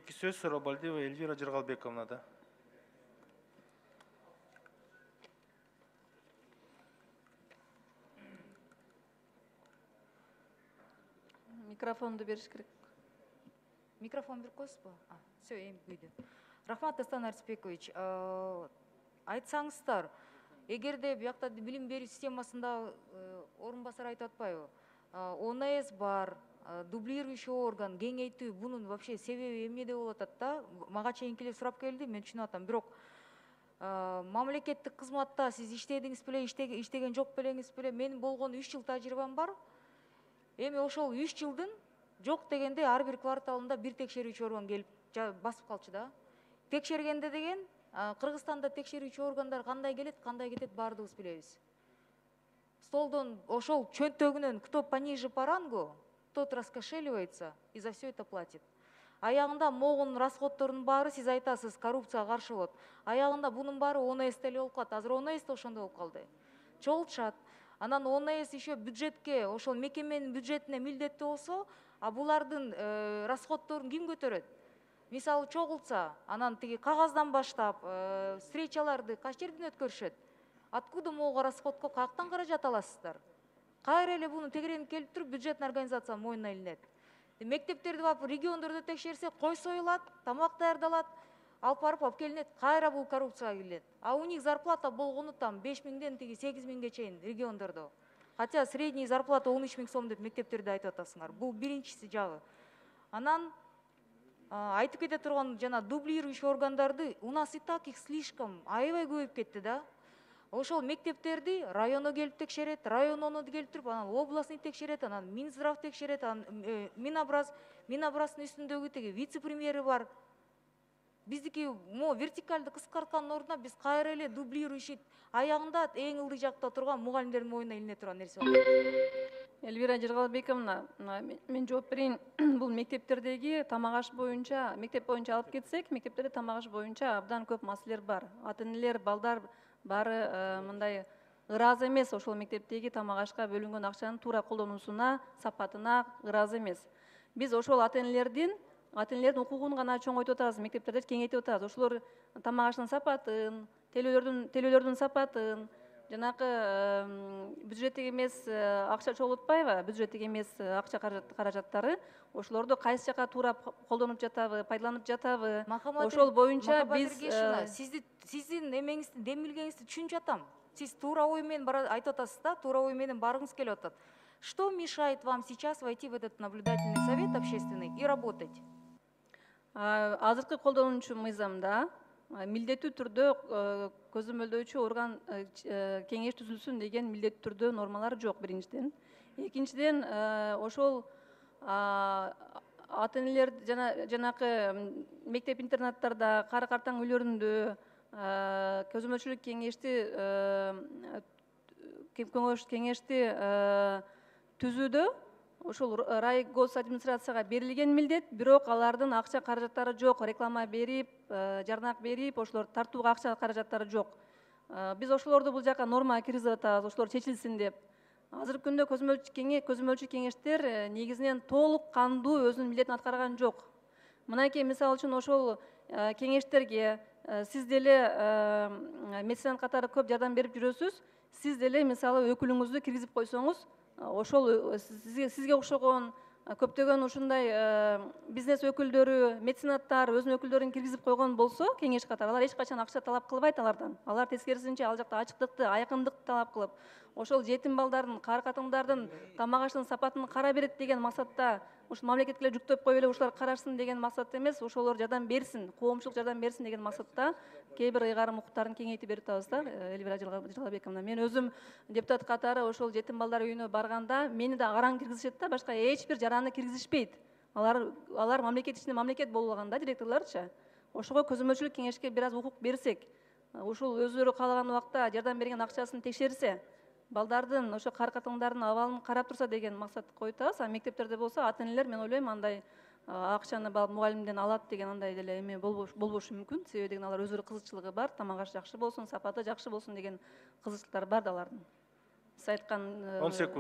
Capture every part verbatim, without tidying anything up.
кийинки сөз Сурабалдиева Эльвира Жыргалбековнада. Микрофонду бериш керек. Микрофон берип коесузбу? Все, эми күйдү. Рахмат, Дастан Арсбекович. Айтсаңыздар, эгерде биякта билим берүү системасында орун басар айтып атпайбы? о эн эс бар, дублирующий орган, кеңейтүү, бунун вообще себеби эмнеде болуп атат да? Мага чейинкилер сурап келди, мен түшүнүп атам. Бирок мамлекеттик кызматта сиз иштедиңиз беле, иштеген жок белеңиз беле? Менин болгон үч жыл тажрыйбам бар. Эми ошол үч жылдын жок дегенде ар бир кварталында бир текшерүүчү орган келип басып калчу да. Текшергенде деген Кыргызстанда текшерүүчү органдар кандай келет, кандай кетет баардыгыбыз билебиз. Столдон ошол чөнтөгүнөн кто пониже по рангу, тот раскошеливается и за все это платит. Аягында могун расходтордун баары сиз айтасыз, коррупцияга каршы болот. Аягында бунун баары о эн эс деле болуп калат. Азыр о эн эс да ошондой болуп калды. Чогултушат. Анан о эн эс еще бюджетке, ошол мекеменин бюджетине милдеттүү болсо, а булардын расходторун ким көтөрөт? Мисалы чогултса, анан тиги кагаздан баштап, встречаларды кайсы жерден өткөрүшөт? Откуда могу расходко каяктан каражат аласыздар? Кайра эле буну тегеренип келип туруп бюджетный организация мойнуна илинет. Мектептерди барып региондордо текшерсе, кой союлат, тамак даярдалат, алып барып алып келинет, кайра бул коррупцияга кирилет. А у них зарплата болгону там беш миңден тиги сегиз миңге чейин региондордо. Хотя средний зарплата он үч миң сом деп мектептерде айтып атасыңар. Бул биринчиси жагы. Анан айтып кете турган жана дублирующий органдарды у нас и так их слишком аябай көбөйүп кетти да. Ошол мектептерди районо келип текшерет, район оны келип туруп, анан областный текшерет, анан Минздрав текшерет, анан Минобраз, Минобраздын үстүндөгү тиги вице-премьери бар. Биздики мо вертикалды кыскарткандын ордуна биз кайра эле дублирующий аягында эң ылдый жакта турган мугалимдердин мойнуна илине турган нерсе болот. Эльвира Жыргалбековна, мен жооп берейин. Бул мектептердеги тамак аш боюнча, мектеп боюнча алып кетсек, мектептерде тамак аш боюнча абдан көп маселелер бар. Ата-энелер, балдар баары мындай ыраазы эмес, ошол мектептеги тамак ашка бөлүнгөн акчанын туура колдонуусуна, сапатына ыраазы эмес. Биз ошол ата-энелердин ата-энелердин укугун гана чоңойтуп атабыз, мектептерди кеңейтип атабыз. Ошолор тамак аштын сапатын, телөөлөрдүн телөөлөрдүн сапатын, жанакы бюджеттик эмес акча чогултпайбы, бюджеттик эмес акча каражаттары, ошолорду кайсы жака туура колдонуп жатабы, пайдаланып жатабы? Ошол боюнча биз сиздин эмеңиздин демилгениңизди түшүнүп жатам. Сиз туура ой менен айтып атасыз да, туура ой менен баргыңыз келип атат. Что мешает вам сейчас войти в этот наблюдательный совет общественный и работать? Азыркы колдонуучу мыйзамда милдеттүү түрдө көзөмөлдөөчү орган кеңеш түзүлсүн деген милдеттүү түрдө нормалар жок, биринчиден. Экинчиден, ошол ата-энелер жанакы мектеп интернаттарда, кары картаң үйлөрүндө көзөмөлчүлүк кеңешти кеңешти түзүүдө ошол рай гос администрацияга берилген милдет, бирок алардын акча каражаттары жок, реклама берип, жарнак берип, ошолор тартууга акча каражаттары жок. Биз ошолорду бул жака норма киргизип атабыз, ошолор чечилсин деп. Азыркы күндө көзөмөлчү кеңештер негизинен толук кандуу өзүнүн милдетин аткарган жок. Мынакей мисалы үчүн ошол кеңештерге сиз деле меценат катары көп жардам берип жүрөсүз, сиз деле мисалы өкүлүңүздү киргизип койсоңуз, ошол сизге окшогон көптөгөн ушундай бизнес өкүлдөрү, меценаттар өзүнүн өкүлдөрүн киргизип койгон болсо, кеңеш катары алар эч качан акча талап кылбайт алардан. Алар тескерисинче ал жакта ачыктыкты, айкындыкты талап кылып, ошол жетим балдардын, кары катындардын тамак аштын сапатын кара берет деген максатта, ушул мамлекетке жүктөп коюп эле ушулар карашсын деген максатта эмес, ошолор жардам берсин, коомчулук жардам берсин деген максатта кээ бир ыйгарым укуктарын кеңейтип берип атабыз да, Эльвира Жыргалбековна. Мен өзүм депутат катары ошол жетим балдар үйүнө барганда мени да араң киргизишет да, башка эч бир жараны киргизишпейт. Алар алар мамлекет ичинде мамлекет болуп алган да, директорлорчу. Ошого көзөмөлчүлүк кеңешке бир аз укук берсек, ушул өздөрү каалаган убакта жардам берген акчасын текшерсе, балдардын, ошо кары катындардын абалын карап турса деген максат коюп атабыз. А мектептерде болсо ата-энелер, мен ойлойм, андай акчаны мугалимден алат деген андай деле эме болбошу мүмкүн. Себеби деген алар өздөрү кызыкчылыгы бар, тамак аш жакшы болсун, сапаты жакшы болсун деген кызыкчылыктары бар да алардын. Сиз айткан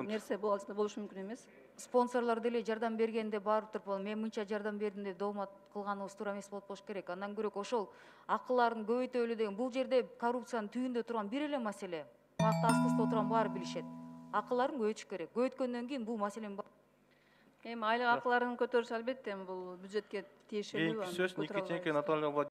нерсе болушу мүмкүн эмес. спонсорлор деле жардам бергенде барып туруп ал мен мынча жардам бердим деп доомат кылганыбыз туура эмес болот болуш керек. Андан көрөк ошол акыларын көбөйтөлү деген, бул жерде коррупциянын түбүндө турган бир эле маселе. Буякта аст-устта отурган баары билишет. Акыларын көбөйтүш керек. Көбөйткөндөн кийин бул маселенин Эми айлык акыларын көтөрүш албетте бул бюджетке тиешелүү. Кийинки сөз Никитенко Наталья